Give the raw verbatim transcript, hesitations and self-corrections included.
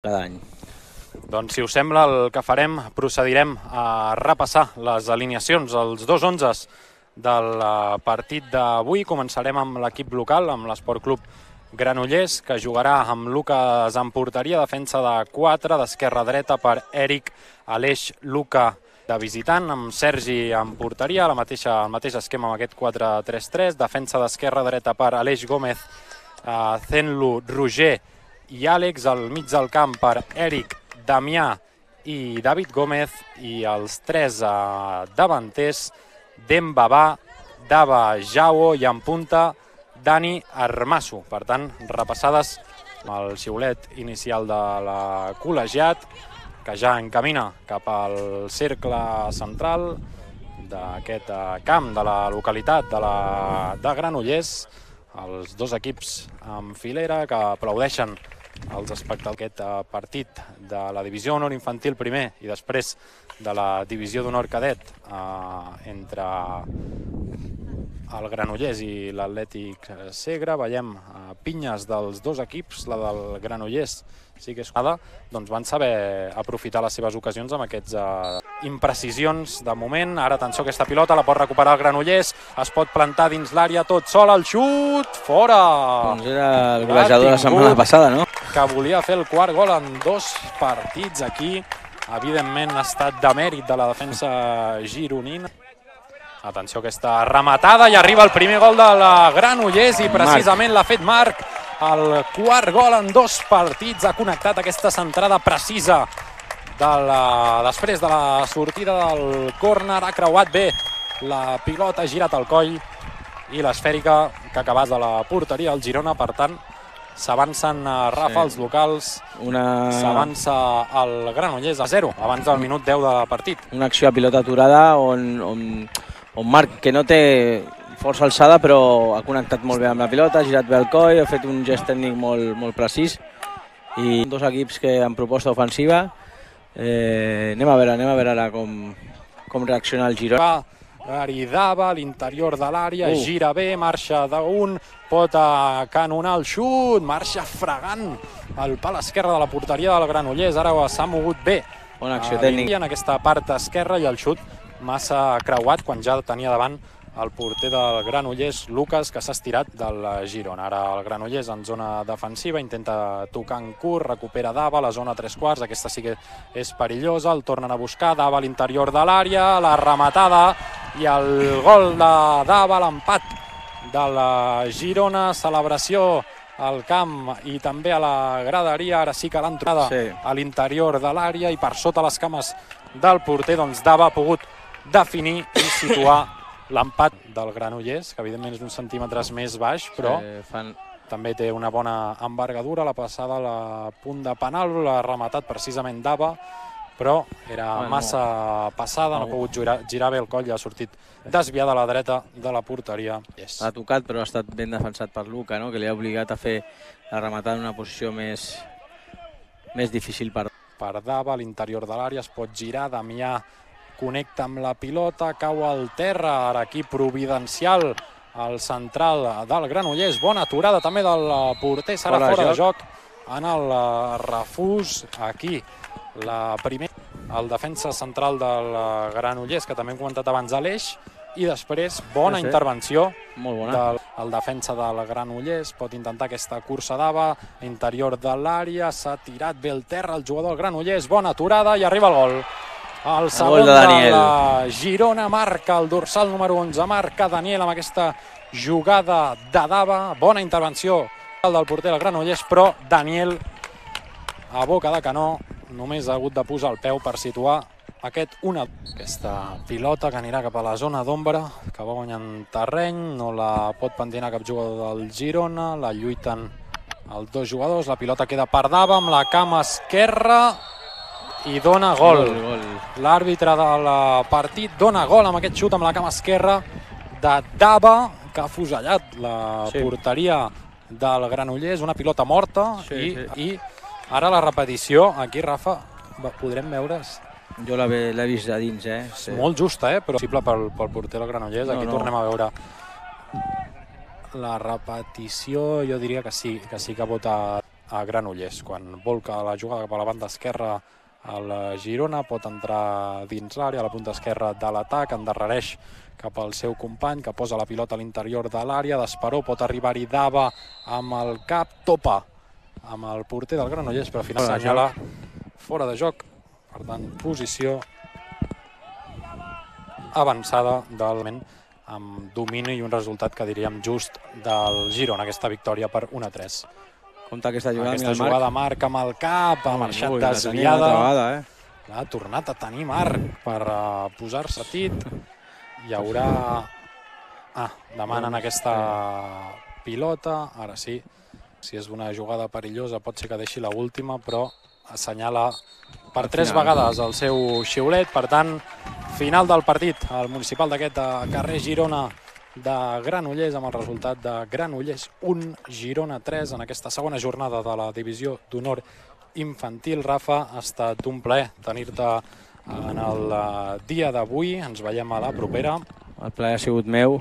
cada any. Doncs, si us sembla, el que farem, procedirem a repassar les alineacions, els dos onzes del partit d'avui. Començarem amb l'equip local, amb l'Esport Club Granollers, que jugarà amb Lucas en porteria, defensa de quatre, d'esquerra a dreta per Eric, Aleix, Luca de visitant, amb Sergi en porteria, la mateixa, el mateix esquema amb aquest quatre tres tres, defensa d'esquerra a dreta per Aleix Gómez, eh, Zenlu, Roger i Àlex, al mig del camp per Eric, Damià i David Gómez, i els tres eh, davanters, Dembabà, Dava, Jao i en punta Dani Armasso. Per tant, repassades el xiulet inicial de la col·legiat, que ja encamina cap al cercle central d'aquest camp de la localitat de, la, de Granollers. Els dos equips en filera que aplaudeixen els espectadors d'aquest partit de la Divisió d'Honor Infantil primer i després de la Divisió d'Honor Cadet eh, entre el Granollers i l'Atlètic Segre. Veiem eh, pinyes dels dos equips, la del Granollers sí que és jugada, doncs van saber aprofitar les seves ocasions amb aquests eh, imprecisions de moment. Ara, atenció, aquesta pilota la pot recuperar el Granollers, es pot plantar dins l'àrea tot sol, el xut, fora! Doncs era el golejador la setmana passada, no? Que volia fer el quart gol en dos partits aquí. Evidentment ha estat de mèrit de la defensa gironina. Atenció, aquesta rematada, i arriba el primer gol de la Granollers i precisament l'ha fet Marc. El quart gol en dos partits, ha connectat aquesta centrada precisa de la, després de la sortida del córner, ha creuat bé la pilota, ha girat el coll i l'esfèrica que ha acabat de la porteria al Girona. Per tant, s'avancen a Rafa, els locals, una... s'avança el Granollers a zero abans del minut deu de partit. Una acció a pilota aturada on, on, on Marc, que no té força alçada, però ha connectat molt bé amb la pilota, ha girat bé el coll, ha fet un gest tècnic molt, molt precís. I dos equips que en proposta ofensiva. Eh, anem a veure, anem a veure ara com, com reacciona el Girona. Aridava a l'interior de l'àrea, uh. gira bé, marxa d'un, pot canonar el xut, marxa fregant el pal esquerre de la porteria del Granollers. Ara s'ha mogut bé. Bona acció tècnica. En aquesta part esquerra, i el xut massa creuat quan ja tenia davant el porter del Granollers, Lucas, que s'ha estirat del Girona. Ara el Granollers en zona defensiva, intenta tocar en curt, recupera Dava, la zona tres quarts, aquesta sí que és perillosa, el tornen a buscar, Dava a l'interior de l'àrea, la rematada i el gol de Dava, l'empat de la Girona, celebració al camp i també a la graderia. Ara sí que l'han trobada sí. a l'interior de l'àrea i per sota les cames del porter, doncs Dava ha pogut definir i situar l'empat del Granollers, que evidentment és uns centímetres més baix, però sí, fan... també té una bona envergadura. La passada a la punt de penal, l'ha rematat precisament Dava, però era bueno, massa passada, no, no ha pogut girar, girar bé el coll i ha sortit desviada a la dreta de la porteria. Yes. Ha tocat, però ha estat ben defensat per Luca, no? Que li ha obligat a fer la rematada en una posició més, més difícil per... Per Dava, a l'interior de l'àrea, es pot girar, Damià connecta amb la pilota, cau al terra, ara aquí providencial al central del Granollers, bona aturada també del porter, serà fora, fora de joc en el refús. Aquí la primera, el defensa central del Granollers, que també hem comentat abans, Aleix, i després bona sí, sí. intervenció molt bona. del el defensa del Granollers, pot intentar aquesta cursa Dava, interior de l'àrea, s'ha tirat bé el terra el jugador del Granollers, bona aturada i arriba el gol. El segon de, de la Girona, marca el dorsal número onze, marca Daniel amb aquesta jugada de Dava, bona intervenció del porter del Granollers, però Daniel a boca de canó només ha hagut de posar el peu per situar aquest una. Aquesta pilota que anirà cap a la zona d'ombra, que va guanyant terreny, no la pot pentinar cap jugador del Girona, la lluiten els dos jugadors, la pilota queda per Dava amb la cama esquerra i dona gol. gol, gol. L'àrbitre del partit dona gol amb aquest xut amb la cama esquerra de Dava, que ha fusellat la sí. porteria del Granollers, una pilota morta, sí, i, sí. i ara la repetició, aquí Rafa, podrem veure... Jo l'he vist de dins, eh? Sí. Molt justa, eh? Però possible pel, pel porter del Granollers, aquí no, no. tornem a veure la repetició, jo diria que sí, que sí que vota a Granollers. Quan volca la jugada cap a la banda esquerra el Girona, pot entrar dins l'àrea, a la punta esquerra de l'atac, endarrereix cap al seu company, que posa la pilota a l'interior de l'àrea, d'Esperó, pot arribar-hi Dava amb el cap, topa amb el porter del Granollers, però al final assenyala fora de joc. Per tant, posició avançada del moment, amb domini i un resultat que diríem just del Girona, aquesta victòria per un a tres. Compte aquesta jugada, aquesta jugada Marc amb el cap, ha marxat Ui, desviada. Vegada, eh? Ha tornat a tenir Marc per uh, posar-se tit. Hi haurà... Ah, demanen aquesta pilota. Ara sí, si és una jugada perillosa pot ser que deixi la última, però assenyala per tres vegades el seu xiulet. Per tant, final del partit, el municipal d'aquest carrer Girona de Granollers, amb el resultat de Granollers un, Girona tres, en aquesta segona jornada de la divisió d'honor infantil. Rafa, ha estat un plaer tenir-te en el dia d'avui. Ens veiem a la propera. El plaer ha sigut meu.